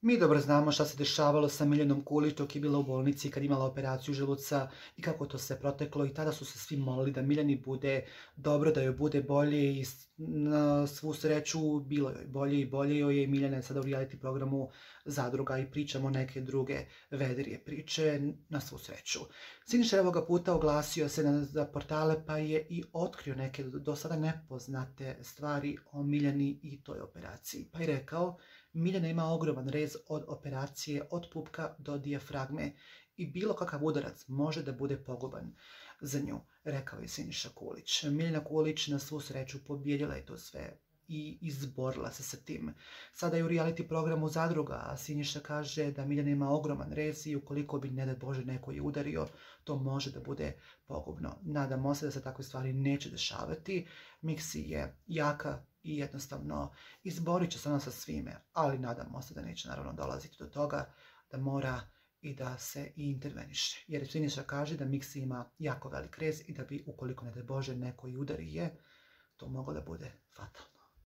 Mi dobro znamo šta se dešavalo sa Miljanom Kulić dok je bila u bolnici kad je imala operaciju želuca i kako to sve proteklo i tada su se svi molili da Miljani bude dobro, da joj bude bolje i na svu sreću bilo joj bolje i bolje joj je i Miljana je sada u reality programu Zadruga i pričamo neke druge vedrije priče na svu sreću. Siniša je ovoga puta oglasio se za portale pa je i otkrio neke do sada nepoznate stvari o Miljani i toj operaciji. Pa je rekao: Miljana ima ogroman rez od operacije od pupka do dijafragme i bilo kakav udarac može da bude poguban za nju, rekao je Siniša Kulić. Miljana Kulić na svu sreću pobjedila je to sve i izborila se sa tim. Sada je u reality programu Zadruga, a Siniša kaže da Miljana ima ogroman rez i ukoliko bi, ne daj Bože, neko je udario, to može da bude pogubno. Nadamo se da se takve stvari neće dešavati. Miksi je jaka i jednostavno izborit će se ona sa svime, ali nadamo se da neće naravno dolaziti do toga da mora i da se i interveniše. Jer Siniša kaže da Miksi ima jako velik rez i da bi, ukoliko ne daj Bože neko i udari je, to moglo da bude fatalno.